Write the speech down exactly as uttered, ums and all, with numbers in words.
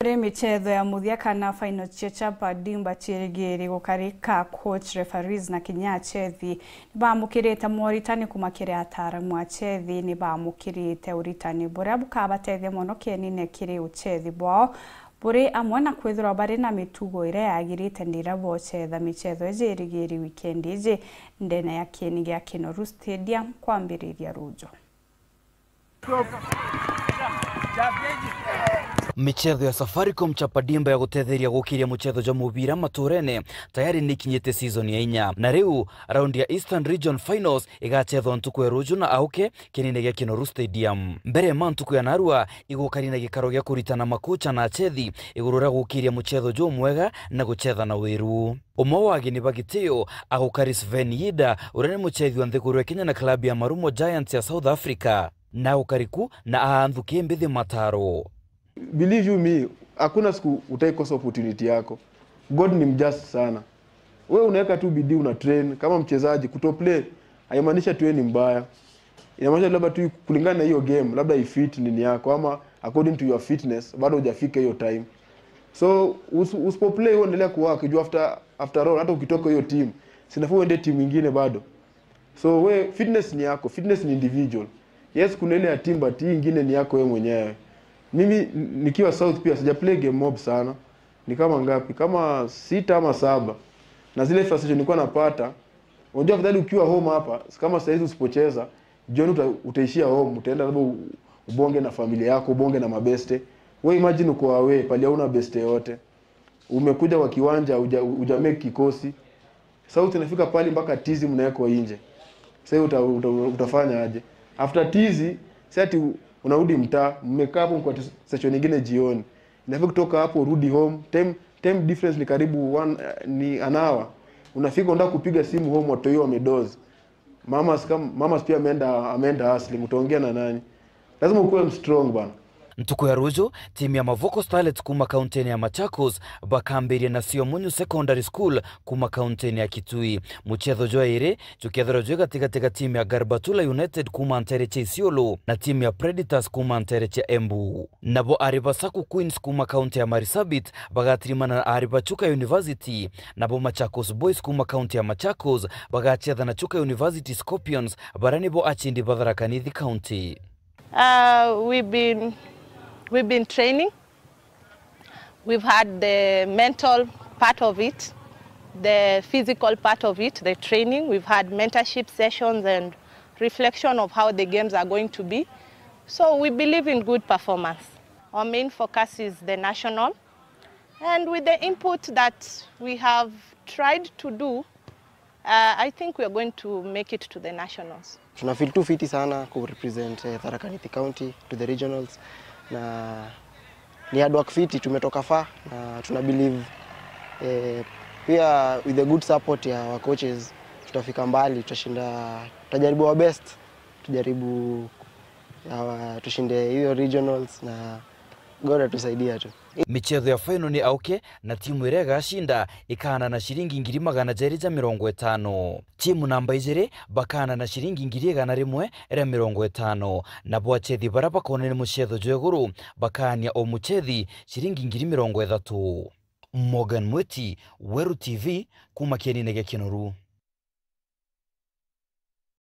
Kuri michetho ya muthia kana final cia Chapa Dimba ciirigiri gukarika, coach, referees na kinya achethi nibamukirite moritani kuma kiri ataaramu a chethi. Nibamukirite uritani buria bukabatethia mono kienine kiri uchethi bwao, buri amwe na kwithirwa bari na mitugo iria yagirite ndira bochetha michetho iji irigiri wikendi iji ndene ya kieni gia Kinoru Stadium kwambiriria rujo. Michetho ya Safaricom Chapa Dimba ya gutetheria gukiria muchetho jwa mubira maturene tayari ni ikinyite season ya inya, na riu raundi ya Eastern Region Finals igachethwa ntuku ya ruju na auke kienine gia Kinoru Stadium. Mbere ma ntuku ya narua igukari na gikaro gia kuritana makocha na achethi iguru ria gukiria muchetho jumwega na guchetha na wiru. Umwe wa ageni ba gitio agukari Sven Yida, uria ni muchethi wa nthiguru ya Kenya na klabu ya Marumo Giants ya South Africa, na agukari ku na aanthuki mbithi mataro. Believe you me, hakuna siku utaikosa opportunity yako. God ni mjust sana. Wewe unaweka tu bidii, una train kama mchezaji. Kuto play haimaanishi tu wewe ni mbaya. Inamaanisha labda tu kulingana na hiyo game, labda ifit nini yako, ama according to your fitness, bado hujafika hiyo time. So usi- usipo play, wewe endelea kuwork juu, after after all, hata ukitoka hiyo team, sinafaa uende team ingine bado. So we, fitness ni yako, fitness ni individual. Yes, kuna ile ya team, but hii ingine ni yako wewe mwenyewe. Mimi n- nikiwa South pia sija play game mob sana. Ni kama ngapi? Kama sita ama saba. Na zile frustration nilikuwa napata, unajua, afadhali ukiwa home hapa, kama saizi usipocheza, jioni uta- utaishia home, utaenda labda u- ubonge na familia yako, ubonge na mabeste. We imagine uko away, pali hauna beste yote. Umekuja kwa kiwanja, uja, uja make kikosi. Sasa utinafika pali mpaka tizi mnawekwa nje. Sasa uta, uta, utafanya aje? After tizi, si ati u- unarudi mtaa, mmekaa hapo kwa session nyingine jioni. Inafika kutoka hapo urudi home, time time difference ni karibu one, eh, ni an hour. Unafika unataka kupiga simu home, watu hiyo wamedoze. Mamas kama mamas pia ameenda ameenda hustling, utaongea na nani? Lazima ukuwe strong bana. Ntuku ya ruju, timu ya Mavoko Starlets kuma kaunti ya Machakos bakambiria na Siomunyu Secondary School kuma kaunti ya Kitui. Muchetho jwa iri jukethirwa jwi gatigati ga timu ya Garbatula United kuma ntere cia Isiolo na timu ya Predators kuma ntere cia Embu. Nabo ari ba Saku Queens kuma kaunti ya Marsabit bagatirimana na ari ba Chuka University, nabo Machakos Boys kuma kaunti ya Machakos bagachetha na Chuka University Scorpions, baria nibo achindi ba Tharaka Nithi County. Uh, we've been, we've been training. We've had the mental part of it, the physical part of it, the training. We've had mentorship sessions and reflection of how the games are going to be. So we believe in good performance. Our main focus is the national. And with the input that we have tried to do, uh, I think we are going to make it to the nationals. Tuna feel tu fiti sana ku represent eh, Tharaka Nithi County to the regionals, na ni hard work fiti, tumetoka far na tuna believe eh, pia with the good support ya our coaches tutafika mbali, tutashinda, tutajaribu our best, tujaribu uh, tushinde hiyo regionals na God atusaidia tu. Michetho ya final ni auke, na timu iria igacinda ikaana na ciringi ngiri magana jeri ja mirongo itano. Timu namba ijiri bakaana na ciringi ngiri igana rimwe ria mirongo itano, nabo achethi baria bakoonania muchetho jwa iguru bakaania o muchethi ciringi ngiri mirongo ithatu. Morgan Mwiti, Weru T V, kuma kienine gia Kinoru.